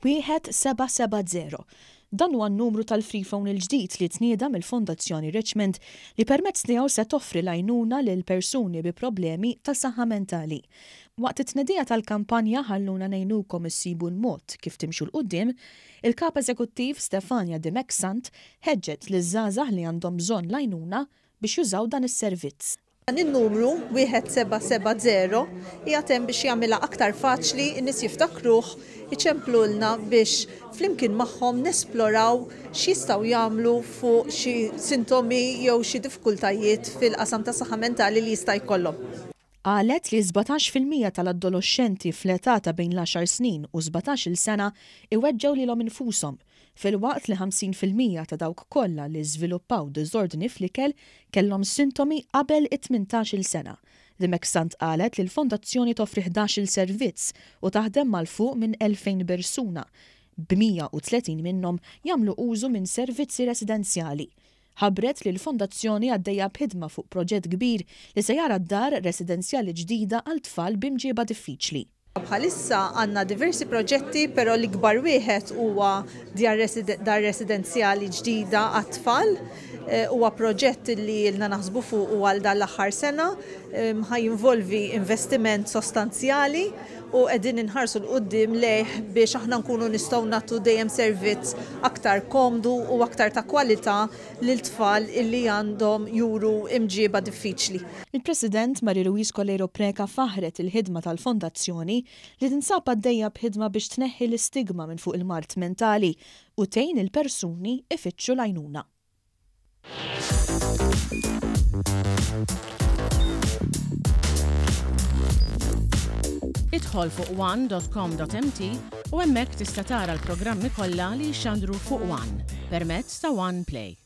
1770. Dan huwa n-numru tal-Freephone il-ġdid li tnieda mill-Fondazzjoni Richmond li permezz tiegħu se toffri l-għajnuna lil persuni bi problemi ta' saħħa mentali. Waqt it-tnedija tal-kampanja Ħalluna Ngħinukom Issibu l-Mod Kif Timxu 'l Quddiem, il-Kap Eżekuttiv Stefania Dimech Sant ħeġġet liż-żgħażagħ li għandhom bżonn l-għajnuna biex jużaw dan is-servizz. Dan in-numru, 1770, qiegħed hemm biex jagħmilha aktar faċli, in-nies jiftakruh, iċemplulna biex flimkien magħhom nesploraw x'jistgħu jagħmlu fuq xi sintomi jew xi diffikultajiet fil-qasam tas-saħħa mentali li jista' jkollhom. Qalet li 17% tal-adoloxxenti fl-età ta' bejn l-għaxar snin u 17-il sena iweġġgħu lilhom infushom, filwaqt li 50% ta' dawk kollha li żviluppaw diżordni fl-ikel kellhom sintomi qabel it-tmintax-il sena. Dimech Sant qalet li l-fondazzjoni toffri ħdax-il servizz u taħdem ma' 'l fuq minn 2,000 persuna, b'130 minnhom jagħmlu użu minn servizzi residenzjali. Ħabbret li l-Fondazzjoni għaddejja b'ħidma fuq proġett kbir li se jara dar residenzjali ġdida għal tfal b'imġieba diffiċli. Bħalissa għandna diversi proġetti però l-ikbar wieħed huwa djar dar residenzjali ġdida għat-tfal. Huwa proġett li ilna naħsbu fuqu għal dan l-aħħar sena, ħa jinvolvi investiment sostanzjali u qegħdin inħarsu 'l quddiem lejh biex aħna nkunu nistgħu nagħtu dejjem servizz aktar komdu u aktar ta' kwalità lil tfal illi għandhom juru imġieba diffiċli. Il-President Marie Louise Coleiro Preca faħħret il-ħidma tal-Fondazzjoni li tinsab għaddejja b'ħidma biex tneħħi l-istigma minn fuq il-mard mentali u tgħin il-persuni ifittxu l-għajnuna. Idħol fuq one.com.mt u hemmhekk tista' tara l-programmi kollha li jixxandru fuq One permezz ta' One Play.